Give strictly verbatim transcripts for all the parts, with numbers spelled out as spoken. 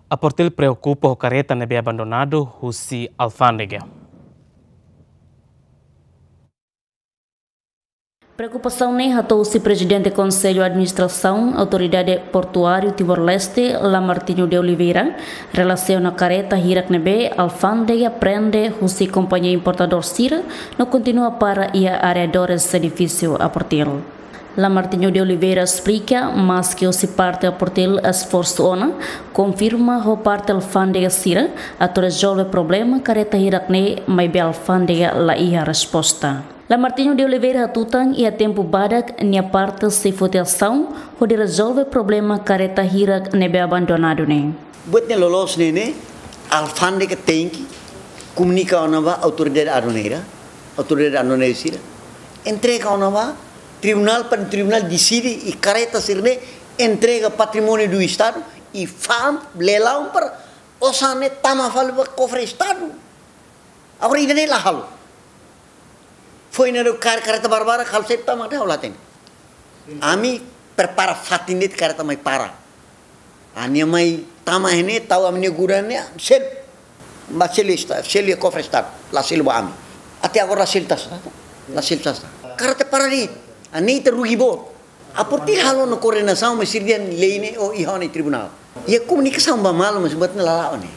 APORTIL preokupa ho kareta ne'ebé abandonadu husi alfándega. Preokupasaun ne'e hato'o husi Prezidente Konsellu Administrasaun Autoridade Portuáriu Timor-Leste, Lamartino de Oliveira, relasiona kareta hirak ne'ebé alfándega prende husi kompañia importadór sira no kontinua para iha arredores edifísiu APORTIL. Lamartino de Oliveira esplika, maske husi parte APORTIL esforsu ona, konfirma ho parte alfándega sira atu rezolve problema kareta hirak ne'e, maibé alfándega la iha resposta. Lamartino de Oliveira hatutan iha tempu badak nia parte sei foti asaun hodi rezolve problema kareta hirak ne'ebé abandonadu ne'e. Buat ne'e loloos ne'e ne'e, alfándega tenke komunika ona ba autoridade aduaneira, autoridade aduaneira sira. Entrega ona ba tribunál, para tribunál deside i kareta sira-ne'e entrega patrimóniu do Estadu i fa'an leilaun para osan ne'e tama fali ba kofre Estadu. Agora ida-ne'e la halo. Foin ne'e kar-, kareta barbarak halo sei tama de halo hatene. Ami prepara fatin de'it kareta mai para. Ami mai tama iha ne'e tau ami-nia gudang ne'e selu. Ba selu esta-, selu iha kofre Estadu. La selu ba ami. Até agora la selu tasta. La selu tasta. Kareta para de'it. Ami ita rugi boot. APORTIL halo ona koordenasaun, mas sira dehan lei ne'e o iha ona iha tribunál. Iha komunikasaun ba malu, mas buat ne'e la la'o ne'e.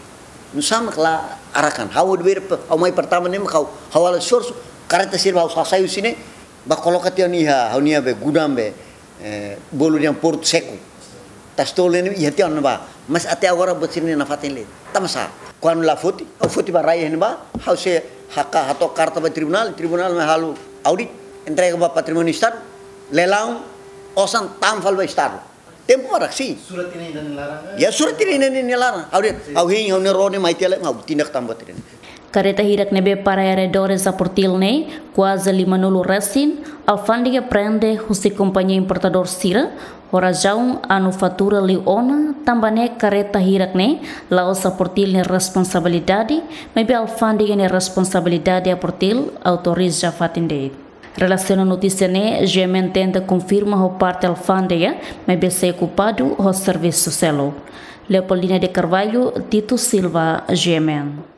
Nusá mak la arahkan. Ha'u de'it, ha'u mai pertama ne'e mak ha'u, ha'u halo esforsu, kareta sira ha'u hasai husi ne'e, ba koloka tiha ona iha, ha'u-nia be, gudang be, eh, bolu dehan portu seku. Tasi tolu ne'e iha tiha ona ba. Mas até agora buat sira-ne'e nafatin lai. Tanbasá? Kuandu la foti, ha'u foti ba rai iha ne'ebá, ha'u sei haka hato'o karta ba tribunál, tribunál mai halo audit, entrega ba patrimóniu Estadu, leilaun, osan tama fali ba Estadu. Tempu barak, sin. Surat iha ne'e nia laran ka? Ya, surat iha ne'e nia laran. Ha'u dehan, ha'u hein, ha'u-nia ró ne'e mai tiha lai, ha'u tindak tama buat ne'e. Kareta hirak ne'ebé para arredores APORTIL ne'e, kuaze limanulu resin, alfándega prende husi kompañia importadór sira, ho razaun anu fatura liu ona, tanba ne'e kareta hirak ne'e, la'ós APORTIL nia responsabilidade, maibé alfándega nia responsabilidade, APORTIL autoriza fatin de'it. Relasiona notísia ne'e, GMN tenta konfirma ho parte alfándega, maibé sei okupadu ho servisu seluk. Leopoldina de Carvalho, Tito Silva, GMN.